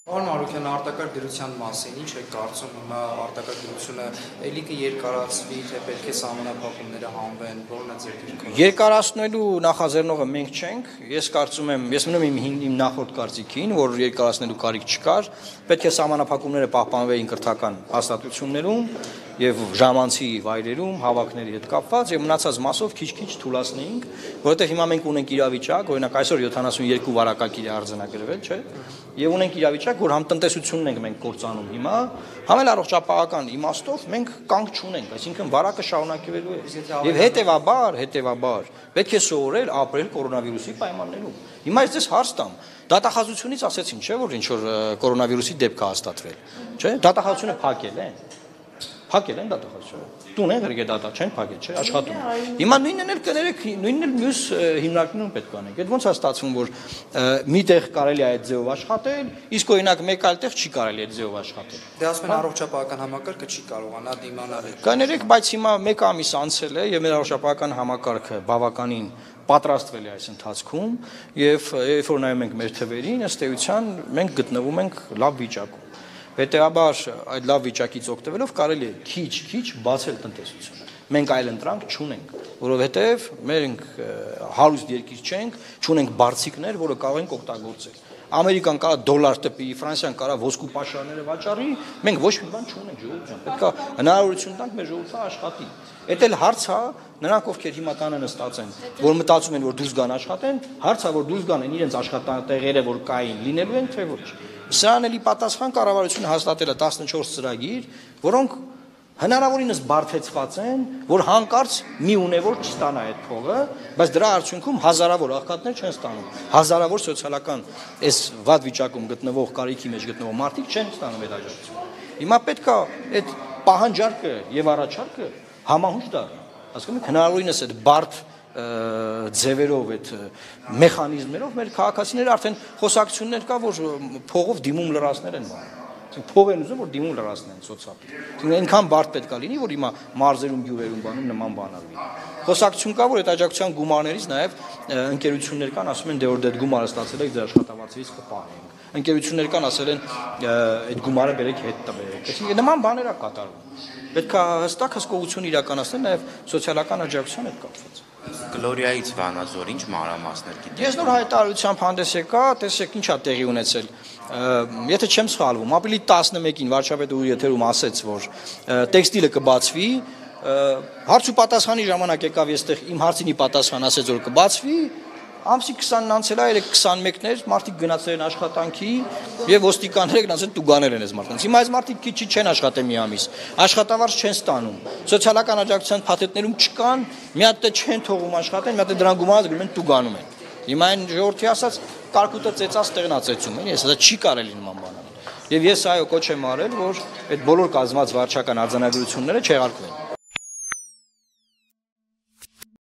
Պարոն Մարուկյան, արտակարգ դրության մասին ինչ եք կարծում, հիմա արտակարգ դրությունը էլի կերկարացվի, թե պետք է սահմանափակումները հանվեն, որն է ձեր դիրքը։ Երկարացնելու նախաձեռնողը մենք չենք, ես կարծում եմ, ես մնում եմ իմ նախորդ կարծիքին, որ երկարացնելու կարիք չկար, պետք է սահմանափակումները պահպանվեին կրթական հաստատություններում եւ ժամանցի վայրերում հավաքների հետ կապված եւ մնացած մասով քիչ-քիչ թուլացնեինք, որովհետեւ հիմա մենք ունենք իրավիճակ, օրինակ այսօր 72 վարակագիր է արձանագրվել, չէ՞, եւ ունենք իրավիճակ, որ համ տնտեսությունն ենք մենք կործանում հիմա, համ էլ առողջապահական իմաստով մենք կանգ չունենք, այսինքն վարակը շարունակվելու է։ Եվ հետեւաբար պետք է սովորել ապրել կորոնավիրուսի պայմաններում։ Հիմա ես ձեզ հարց տամ, դատախազությունից ասեցին, չէ՞, որ ինչ որ կորոնավիրուսի դեպք է հաստատվել, չէ՞, դատախազությունը փակել է։ Փակել են դատախազությունը։ Տուն են գրգե դատա չեն փակել, չէ՞, աշխատում։ Հիմա նույնն էլ կներեք, նույնն էլ մյուս հիմնարկներում պետք է անենք։ Այդ ոնց է ստացվում, որ միտեղ կարելի է այդ ձևով աշխատել, իսկ օրինակ մեկ այլ տեղ չի կարելի այդ ձևով աշխատել։ Դե ասում են առողջապահական համակարգը չի կարողանա դիմանալ։ Կներեք, բայց հիմա մեկ ամիս անցել է եւ մեր առողջապահական համակարգը բավականին պատրաստվել է այս ընթացքում եւ երբ որ նայում ենք մեր թվերին, ըստ էության մենք գտնվում ենք լավ վիճակում։ Հետևաբար այդ լավ վիճակից օգտվելով կարելի է քիչ-քիչ բացել տնտեսությունը։ Մենք այլ ընտրանք չունենք, որովհետև մենք հարուստ երկիր չենք, չունենք բարձիկներ, որը կարող ենք օգտագործել։ Ամերիկան կարա դոլար տպի, Ֆրանսիան կարա ոսկու պաշարները վաճառի, մենք ոչ մի բան չունենք, ժողովուրդ ջան, պետք է հնարավորություն տանք մեր ժողովրդը աշխատի։ Էդ էլ հարց է, նրանք ովքեր հիմա տանը նստած են, որ մտածում են, որ դուրս գան աշխատեն, հարց է, որ դուրս գան են իրենց աշխատատեղերը, որ կային, լինելու են, թե ոչ։ Սրան էլի պատասխան կառավարությունը հաստատել է 14 ծրագիր, որոնք հնարավորինս բարդեցված են, որ հանկարծ մի ունևոր չստանա այդ փողը, բայց դրա արդյունքում հազարավոր աղքատներ չեն ստանում։ Հազարավոր սոցիալական այս վատ վիճակում գտնվող կարիքի մեջ գտնվող մարդիկ չեն ստանում այդ աջակցությունը։ Հիմա պետք է այդ պահանջարկը եւ առաջարկը համահունչ դառնա։ Հասկանում եք, հնարավորինս այդ բարդ ձևերով այդ մեխանիզմներով մեր քաղաքացիները արդեն խոսակցություններ կա, որ փողով դիմում լրացներ են բանում։ Փող են ուզում, որ դիմում լրացնեն սոցիալ։ Այնքան բարդ պետք է լինի, որ հիմա մարզերում, գյուղերում բանում նման բան արվի։ Խոսակցություն կա, որ այդ աջակցության գումարներից նաև ընկերություններ կան, ասում են դե որ այդ գումարը ստացել եք, ձեր աշխատավարձերից կպահենք։ Ընկերություններ կան, ասել են այդ գումարը բերեք հետ տվեք։ Այսինքն նման բաներ է կատարվում։ Պետք է հստակ հսկողություն իրականացնել նաև սոցիալական աջակցության հետ կապված։ Գլորիայից Վանաձոր ինչ մանրամասներ գիտեք։ Ես նոր հայտարարությամբ հանդես եկա, տեսեք ինչ է տեղի ունեցել։ Եթե չեմ սխալվում, ապրիլի 11-ին վարչապետը ու եթերում ասեց, որ տեքստիլը կբացվի, հարց ու պատասխանի ժամանակ եկավ եստեղ իմ հարցինի պատասխան ասեց, որ կբացվի, ամսի 20-ն անցել է, 21-ներ մարդիկ գնացել են աշխատանքի եւ ոստիկանները գնացել տուգանել են այս մարդկանց։ Հիմա այս մարդիկ քիչ չեն աշխատել մի ամիս, աշխատավարձ չեն ստանում, սոցիալական աջակցության փաթեթներում չկան, մի հատ չեն թողում աշխատեն, մի հատ դրան գումարած գրում են տուգանում են։ Հիմա այն ժողովրդի ասած կարկուտը ծեծած տեղնացեցում են, ես դա չի կարելի նման բան անել։ Եվ ես այո կոչ եմ արել, որ այդ բոլոր կազմած վարչական արձանագրությունները չեղարկվեն։